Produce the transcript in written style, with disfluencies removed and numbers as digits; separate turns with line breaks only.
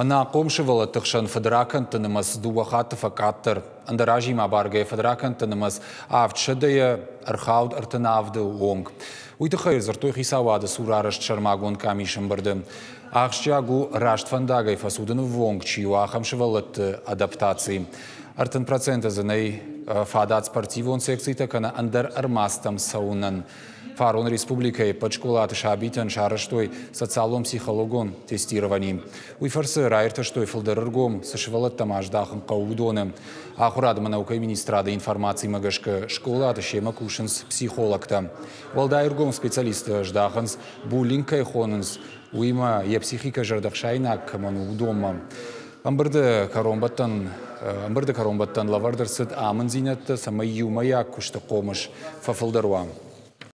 Ӕнахъом сывӕллӕтты хсӕн фыдракӕндты нымӕц дыууӕ хатты фӕкъаддӕр. Ӕндӕр азимӕ абаргӕйӕ фыдракӕндты нымӕц авдсӕдӕйӕ ӕрхауд 37-ы онг. Уый тыххӕй дзырдтой хицауады цур арӕзт сӕрмагонд къамисы ӕмбырды. Ахсджиаг у, раст фӕндагӕй фӕцудыны ввонг чи у, ахӕм сывӕллӕтты адаптаци. 30% дзы нӕй фадат спортивон секцитӕ кӕнӕ ӕндӕр ӕрмадзтӕм цӕуынӕн. Фарон республикӕйы ӕппӕт скъолаты сабитӕн сарӕзтой социалон-психологон тестировани. Уый фӕрцы раиртӕстой фылдӕр ӕргом, цы сывӕллӕттӕм аздахын хъӕуы, уыдоны. Ахуырад ӕмӕ наукӕйы министрады информацимӕ гӕсгӕ скъолаты семӕ кусынц психологтӕ. Уӕлдай ӕргом специалисттӕ здахынц, буллинг кӕй хонынц, уыимӕ йӕ психикӕ зӕрдӕхсаинаг кӕмӕн у, уыдонмӕ. Ӕмбырды кӕронбӕттӕн ӕмбырды кӕронбӕттӕн лӕвӕрд ӕрцыд амынддзинӕдтӕ, цӕмӕй иумӕйаг куысты хъомыс фӕфылдӕр уа.